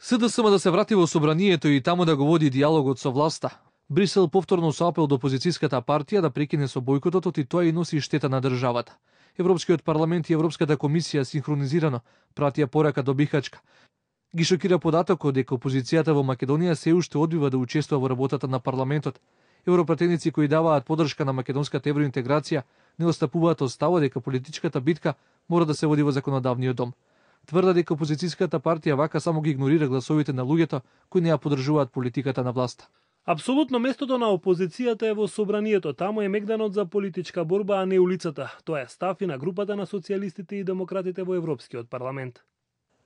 СДСМ да се врати во собранието и таму да го води диалогот со власта. Брисел повторно со апел до опозицијската партија да прекине со бојкотот и тоа и носи штета на државата. Европскиот парламент и Европската комисија синхронизирано пратија порака до Бихачка. Ги шокира податокот дека опозицијата во Македонија се уште одбива да учествува во работата на парламентот. Европратеници кои даваат поддршка на македонската евроинтеграција не отстапуваат од ставот дека политичката битка мора да се води во законодавниот дом. Тврда дека опозицијската партија вака само ги игнорира гласовите на луѓето кои не ја поддржуваат политиката на власта. Апсолутно местото на опозицијата е во собранието, таму е мегданот за политичка борба, а не улицата. Тоа е став и на групата на социјалистите и демократите во Европскиот парламент.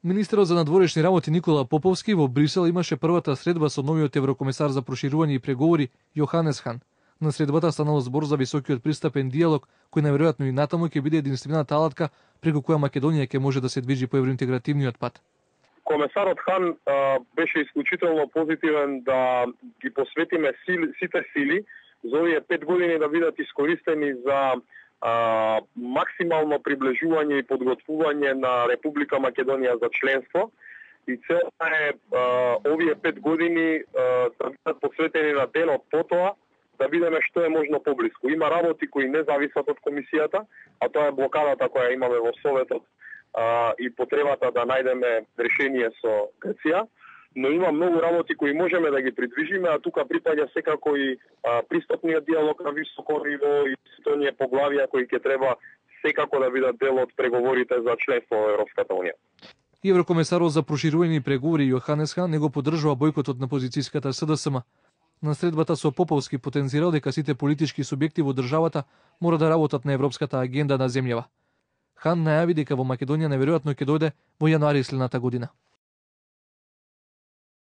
Министерот за надворешни работи Никола Поповски во Брисел имаше првата средба со новиот еврокомесар за проширување и преговори Јоханес Хан. На средбата станало збор за високиот пристапен диалог, кој најверојатно и натаму ќе биде единствената алатка преку која Македонија ќе може да се движи по евроинтегративниот пат. Комесарот Хан беше исклучително позитивен да ги посветиме сите сили за овие 5 години да бидат искористени за максимално приближување и подготвување на Република Македонија за членство. И целта е овие 5 години да бидат посветени на денот потоа, да бидеме што е можно поблиску. Има работи кои не зависат од комисијата, а тоа е блокадата која имаме во Советот и потребата да најдеме решение со Грција, но има многу работи кои можеме да ги придвижиме, а тука припаѓа секако и пристапниот диалог на високо ниво и сите оние поглавија кои ќе треба секако да бидат дел од преговорите за членство во Европската унија. Еврокомесарот за проширување и преговори Јоханес Хан не го поддржува бојкотот на опозицијската СДСМ. На средбата со Поповски потенцирал дека сите политички субјекти во државата мора да работат на европската агенда на земјава. Хан најави дека во Македонија неверојатно ќе дојде во јануари следната година.